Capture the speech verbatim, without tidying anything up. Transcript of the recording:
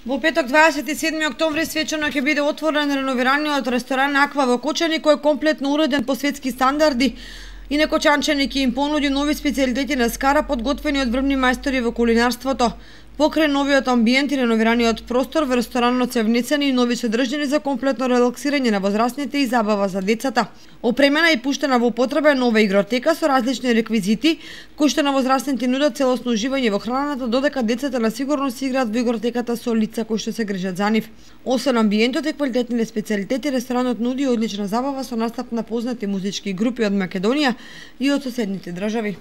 Во петок дваесет и седми октомври свечено ќе биде отворен реновираниот ресторан Аква во Кочани, кој е комплетно уреден по светски стандарди и Некочанчани ќе им понуди нови специјалитети на скара подготвени од врвни мајстори во кулинарството. Покрај новиот амбиент и реновираниот простор во ресторанот се внесени и нови содржини за комплетно релаксирање на возрастните и забава за децата. Опремена и пуштена во употреба е нова игротека со различни реквизити, кои што на возрастните нудат целосно уживање во храната, додека децата на сигурно си играат во игротеката со лица кои што се грижат за нив. Освен амбиентот и квалитетните специјалитети, ресторанот нуди одлична забава со настап на познати музички групи од Македонија и од соседните држави.